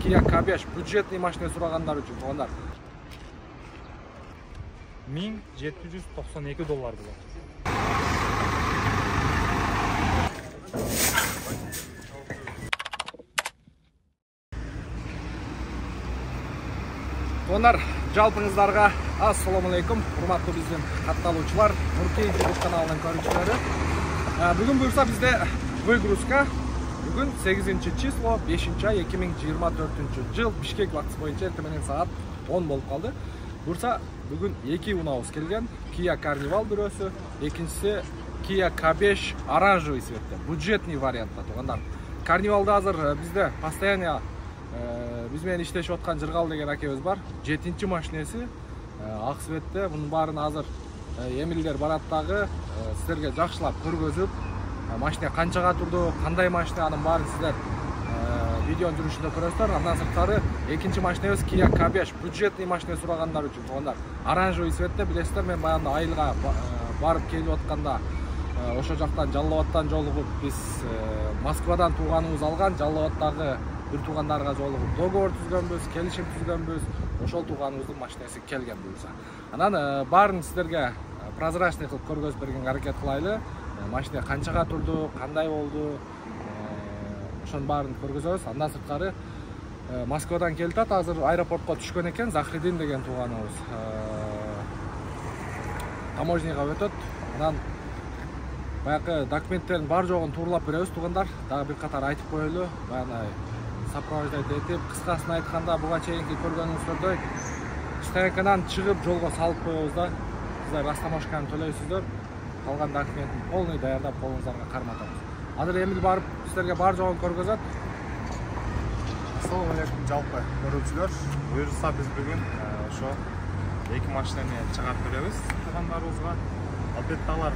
Kia Kabech бюджетный машина сурагандар үчүн туугандар. $1792 болот. Туугандар, жалпыңыздарга ассаламу алейкум, урматтуу биздин катталуучулар, Нуркей YouTube каналынын көрүүчүлөрү. Бүгүн буюрса бизде выгрузка. Бүгүн 8 число 5-ай 2024 жыл Бишкек убактысы боюнча эртең саат 10 болуп калды. Буюрса бүгүн 2 унаабыз келген. Kia Carnival бирөөсү, экинчиси Kia Kabech оранжевый цветте, бюджетный вариантта туугандар. Carnival'да азыр бизде постоянно биз менен иштешип аткан Жыргал деген акебиз бар. 7-чи машинеси ак цветте. Мунун баарын азыр эмилдер барат дагы силерге жакшылап көргөзүп, машина канчага турду, кандай машина, анын баарын сиздер видеонун жүрүшүндө көрөсүздөр. Андан сырткары экинчи машинебиз Kia Kabech бюджетный машина сурагандар үчүн туугандар. Оранжевый цветте, билесиздер, мен баягында айылга барып келип атканда ошо жактан Жалал Абадтан жолугуп биз Москвадан тууганыбыз алган, Жалал Абадтагы бир туугандарга жолугуп договор түзгөнбүз, келишим түзгөнбүз. Ошол тууганыбыздын машинеси келген буюрса. Анан баарын сиздерге прозрачный кылып көргөзүп бергенге аракет кылайлы. Машина канчага турду, кандай болду, ошонун баарын көргөзөбүз. Андан сырткары Москвадан келип атат, азыр аэропортко түшкөн экен. Захридин деген тууганыбыз таможняга өтөт. Анан баягы документтердин бар жогун тууралап беребиз туугандар. Дагы бир катар айтып коелу. Баягы сопровождать этип, кыскасын айтканда буга чейинки көргөнүңүздөрдөй стоянкадан чыгып жолго салып коебуз да. Сиздер растаможканы төлөйсүздөр. Калган документин полный даярдап колуңуздарга карматабыз. Азыр эмил барып сиздерге бар жогун көргөзөт. Ассаламу алейкум жалпы көрүүчүлөр. Буюрса биз бүгүн ошо эки машинаны чыгарып беребиз туугандарыбызга. Албетте алар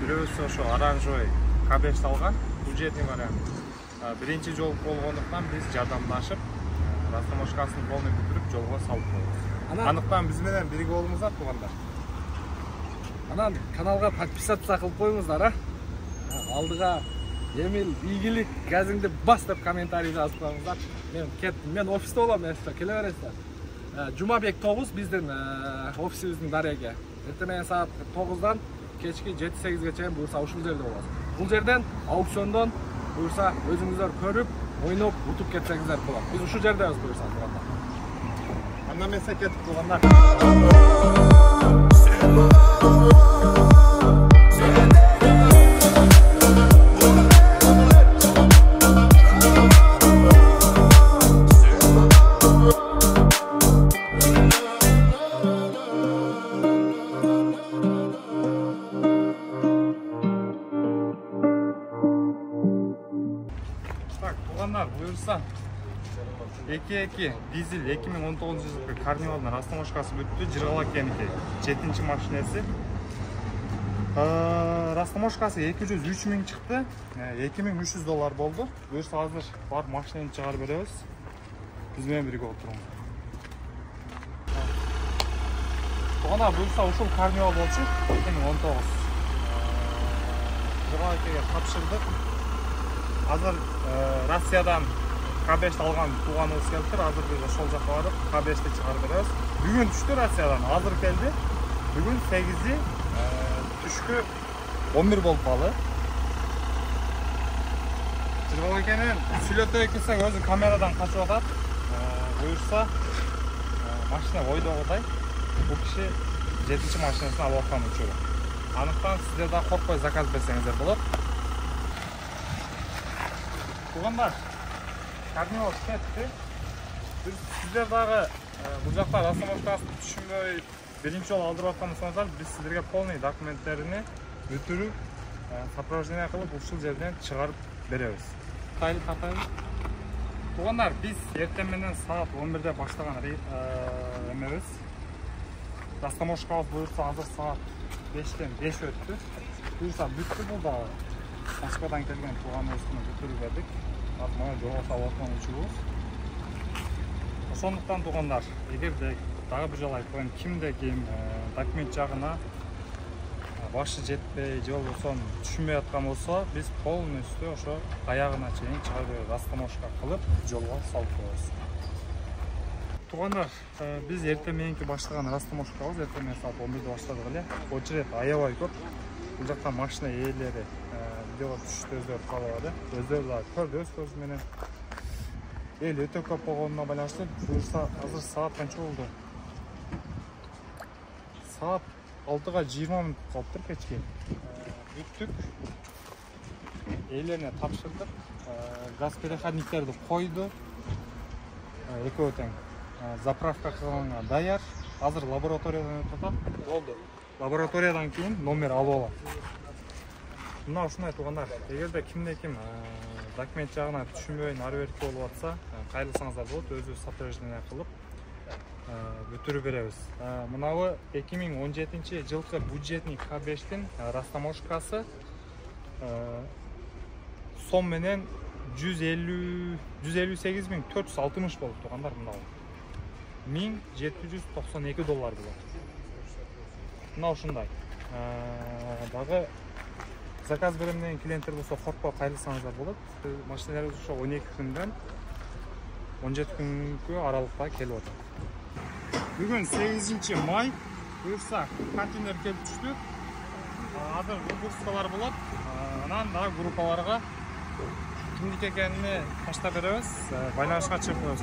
бирөөсү ошо оранжевый Kabech алган, бюджетный вариант. Биринчи жол болгондуктан биз жардамдашып, растаможкасын полный бүтүрүп жолго салып коебуз. Андыктан биз менен бирге болуңуздар туугандар. Анан каналга подписаться кылып коюңуздар, алдыга эмил ийгилик, газыңды бас деп комментарий жазып коюңуздар. Мен кеттим, мен офисте болом, сиздер келе бересиздер. Жумабек 9 биздин офисибиздин дареги. Эртең саат 9-дан кечки 7-8-ге чейин буюрса ушул жерде болобуз. Бул жерден аукциондон буюрса өзүңүздөр көрүп, ойноп, утуп кетсеңиздер болот. Биз ушул жердебиз буюрса туугандар. Анда мен кеттик туугандар. Буюрса 2.2 дизель 2019 жылкы Carnival'дын растаможкасы бүттү. Жыргал акеники 7-чи машинеси. Растаможкасы 203 миң чыкты. $2300 болду. Буюрса азыр бар машинаны чыгарып беребиз. Биз менен бирге отуруңуздар. Туугандар, буюрса ушул Carnival болчу 2019. Жыргал акеге тапшырдык. Азыр Россиядан Kabech алган тууганыбыз келиптир. Азыр биз ошол жакка барып Kabech'ти чыгарып беребиз. Бүгүн түштү Россиядан, азыр келди. Бүгүн 8-и түшкү 11 болуп калды. Жыргал акенин сүйлөтөй келсек өзү камерадан качып атат. Буюрса машина ойдогудай. Бул киши 7-чи машинасын алып аткан учуру. Андыктан сиздер да коркпой заказ берсеңиздер болот. Туугандар, Carnival кетти. Сиздер дагы бул жакта растаможкасын түшүнбөй биринчи жолу алдырып аткан болсоңуздар, биз сиздерге полный документтерини бүтүрүп, сопровождение кылып ушул жерден чыгарып беребиз. Туугандар, биз эртең менен саат 11-де баштаган эмебиз. Растаможкабыз буюрса азыр саат 5-тен 5 өттү. Буюрса бүттү, бул дагы Москвадан келген тууганыбыздын бүтүрүп бердик. Азыр мына жолго салып аткан учурубуз. Ошондуктан туугандар, эгерде дагы бир жолу айтып коеюн, кимде ким документ жагына башы жетпей же болбосо түшүнбөй аткан болсо биз полностью ошо аягына чейин чыгара берип растаможка кылып жолго салып коебуз. Туугандар, биз эртең мененки баштаган растаможкабыз эртең менен саат 11:de баштадык эле. Очеред аябай көп. Бул жакта машина ээлери видеого түшүштү өздөрү каалабады. Өздөрү да көрдү өз көзү менен. Эл өтө көп болгонуна байланыштуу буюрса азыр саат канча болду? Саат 6:20 мүнөт калыптыр кечки. Бүттүк. Ээлерине тапшырдык. Газ переходниктерди койду. Экөө тең. Заправка кылганга даяр. Азыр лабораториядан өтүп атат. Болду. Лабораториядан кийин номер алып алам. Мына ушундай туугандар. Эгерде кимде-ким документ жагына түшүнбөй ары берки болуп атса, кайрылсаңыздар болот, өзүбүз сопровождение кылып бүтүрүп беребиз. Мынабы 2017-жылкы бюджетный К5тин растаможкасы сом менен 158.460 болуп туугандар, мынабы. $1792 болот. Мына ушундай. Дагы заказ берем деген клиенттер болсо коркпой кайрылсаңыздар болот. Машиналарыбыз ошо 12 күндөн 17 күнгө аралыкта келип атат. Бүгүн 8 май. Буюрса контейнер келип түштү. Азыр выгрузкалар болот. Анан дагы группаларга кимдики экенин таштап беребиз. Байланышка чыгып коебуз.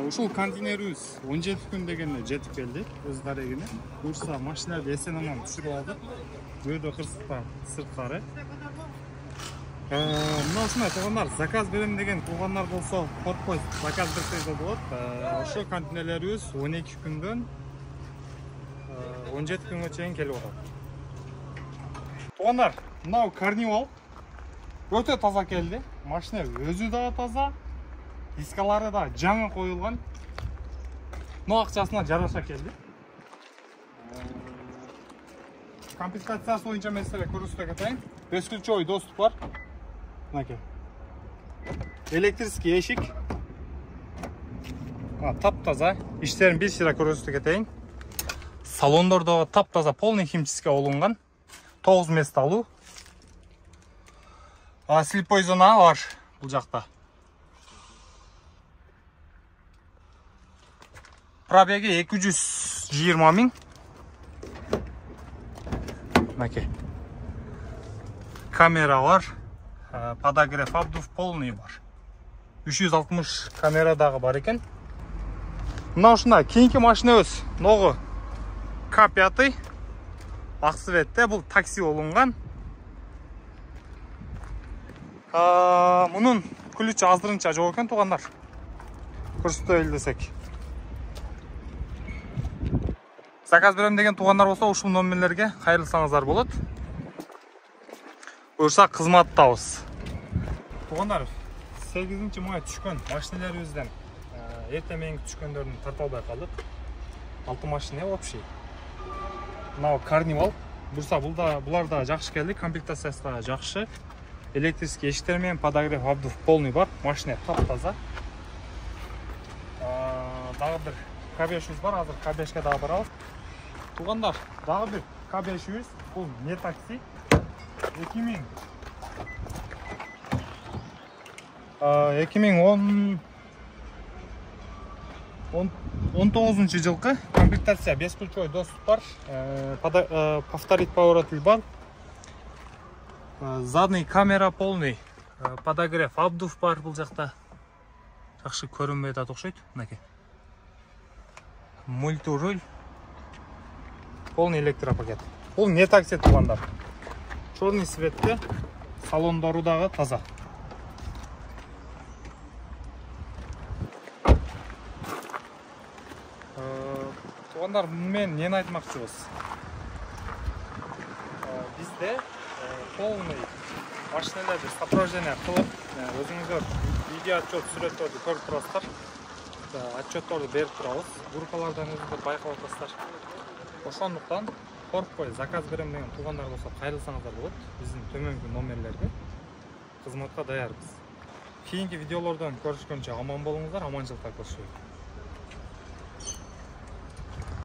Ушул контейнерибиз 17 күн дегенде жетип келди өз дарегине. Буюрса машиналарды эсен аман түшүрүп алдык. Бөөдө кырсыкта сырткары. Мына ушундай туугандар, заказ берем деген туугандар болсо коркпой заказ берсеңиз болот. Ошо контейнерлерибиз 12 күндөн 17 күнгө чейин келип атат. Туугандар, мына карнивал өтө таза келди. Машина өзү да таза. Дискалары да жаңы коюлган. Но акчасына жараша келди. Комплектациясы боюнча мен силерге көрсөтө кетейин. Бескүлчөй доступ бар. Мынакей. Электрический эшик. Тап-таза. Иштерин бир сыйра көрсөтө кетейин. Салондордо тап-таза полный химчистка болунган. 9 мест алуу. Слепой зона бар бул жакта. Пробеги 220 миң. Мынакей. Камера бар. Подогрев обдув полный бар. 360 камера дагы бар экен. Мына ушундай кийинки машинабыз ногу К5. Ак цветте, бул такси болунган. Мунун ключ аздырынча жок экен туугандар. Көрсөтөлү десек. Заказ берем деген туугандар болсо ушул номерлерге кайрылсаңыздар болот. Буюрса кызматтабыз. Туугандар, 8 май түшкөн машиналарыбыздан эртең мененки түшкөндөрдүн тарта албай калдык. 6 машина общий. Мына карнивал. Буюрса булар да жакшы келди, комплектациясы да жакшы. Электрический эшиктер менен подогрев обдув полный бар. Машина тап-таза. Дагы бир К5 бар, азыр К5ке дагы барабыз. Туугандар, дагы бир К5, бул не такси. 2019 жылкы комплектация бескүлчөй доступ бар. Повторить поворотыль бар. Задний камера полный. Подогрев обдув бар бул жакта. Жакшы көрүнбөй атат окшойт. Мынакей. Мультируль. Полный электропакет. Бул не такси туугандар. черный цветте, салондору дагы таза. Туугандар, мен эмне айтмакчыбыз? Бизде полный машиналарды сопровождение кылып, өзүңүздөр видео отчет сүрөттөрдү көрүп турасыздар. Отчетторду берип турабыз. Группалардан өзүңүздөр байкап атасыздар. Ошондуктан коркпой заказ берем деген туугандар болсо кайрылсаңыздар болот. Биздин төмөнкү номерлерге кызматка даярбыз. Кийинки видеолордон көрүшкөнчө аман болуңуздар, аманчылыкта көрүшөйүк.